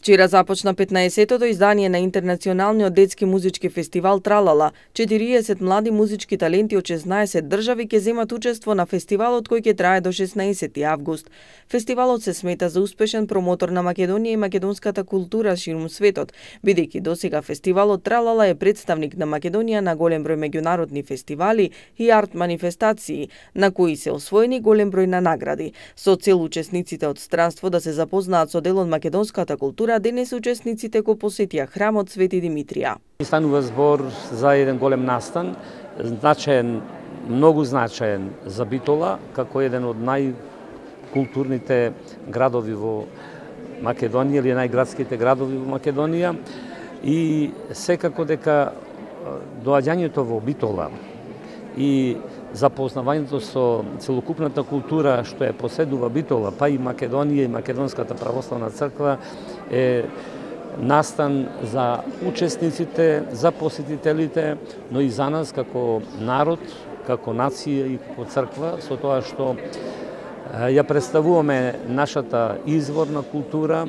Вчера започна 15-тото издание на Интернационалниот детски музички фестивал Тралала. 40 млади музички таленти од 16 држави ќе земат учество на фестивалот кој ќе трае до 16 август. Фестивалот се смета за успешен промотор на Македонија и македонската култура ширум светот, бидејќи досега фестивалот Тралала е представник на Македонија на голем број меѓународни фестивали и арт манифестации, на кои се освоени голем број на награди. Со цел учесниците од странство да се запознаат со дел од македонската култура, денес учесниците го посетија храмот Свети Димитрија. Станува збор за еден голем настан, значаен, многу значаен за Битола, како еден од најкултурните градови во Македонија или најградските градови во Македонија. И секако дека доаѓањето во Битола и запознавањето со целокупната култура што е поседува Битола, па и Македонија и Македонската православна црква е настан за учесниците, за посетителите, но и за нас како народ, како нација и како црква, со тоа што ја представуваме нашата изворна култура,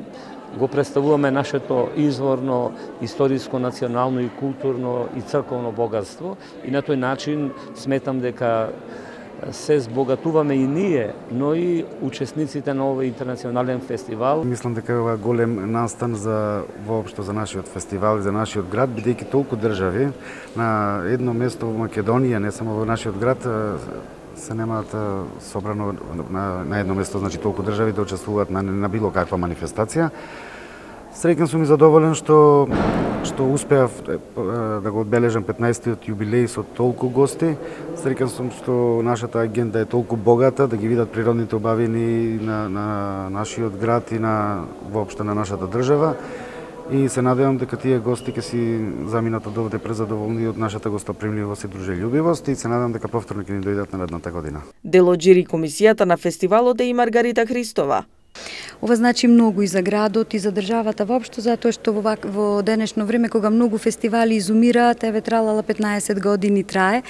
го представуваме нашето изворно, историско, национално и културно и црковно богатство и на тој начин сметам дека се збогатуваме и ние, но и учесниците на овој интернационален фестивал. Мислам дека е ова голем настан за воопшто за нашиот фестивал и за нашиот град, бидејќи толку држави на едно место во Македонија, не само во нашиот град, се немаат собрано на едно место, значи толку држави да учествуваат на било каква манифестација. Среќен сум и задоволен што успеав да го одбележам 15-тиот јубилеј со толку гости. Среќен сум што нашата агенда е толку богата, да ги видат природните убавини на нашиот град и воопшто на нашата држава. И се надевам дека тие гости ќе си заминат од овде презадоволни од нашата гостопримливост и дружелјубивост и се надевам дека повторно ќе ни дојдат наредната година. Дел од жири комисијата на фестивалот е и Маргарита Христова. Ова значи многу и за градот и за државата воопшто, затоа што во денешно време кога многу фестивали изумираат, еве Тралала 15 години трае,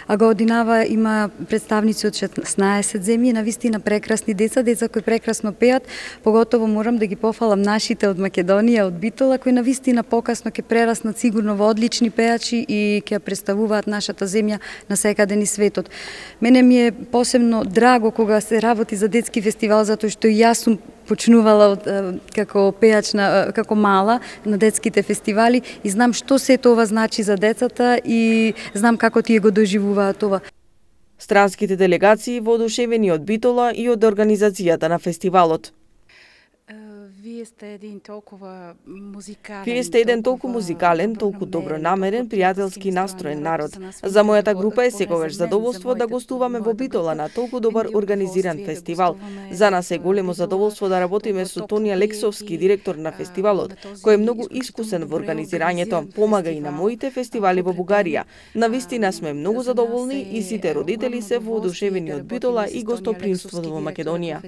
а годинава има представници од 16 земји, навистина прекрасни деца кои прекрасно пеат, поготово морам да ги пофалам нашите од Македонија, од Битола, кои навистина покасно ќе прераснат сигурно во одлични пеачи и ќе представуваат нашата земја на секаде низ светот. Мене ми е посебно драго кога се работи за детски фестивал, затоа што и јас сум почнувала како пеач како мала на детските фестивали и знам што се тоа значи за децата и знам како тие го доживуваат това. Странските делегации воодушевени од Битола и од организацијата на фестивалот. Вие сте еден толку музикален, толку добронамерен, пријателски настроен народ. За мојата група е секогаш задоволство да гостуваме во Битола на толку добар организиран фестивал. За нас е големо задоволство да работиме со Тони Алексовски, директор на фестивалот, кој е многу искусен во организирањето, помага и на моите фестивали во Бугарија. Навистина сме многу задоволни и сите родители се воодушевени од Битола и гостопримството во Македонија.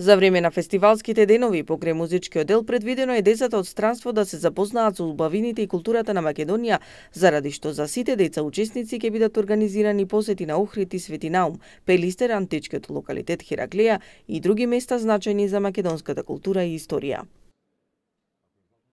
За време на фестивалските денови покрај музичкиот дел предвидено е децата од странство да се запознаат со убавините и културата на Македонија, заради што за сите деца учесници ќе бидат организирани посети на Охрид и Свети Наум, Пелистер, античкиот локалитет Хераклеја и други места значајни за македонската култура и историја.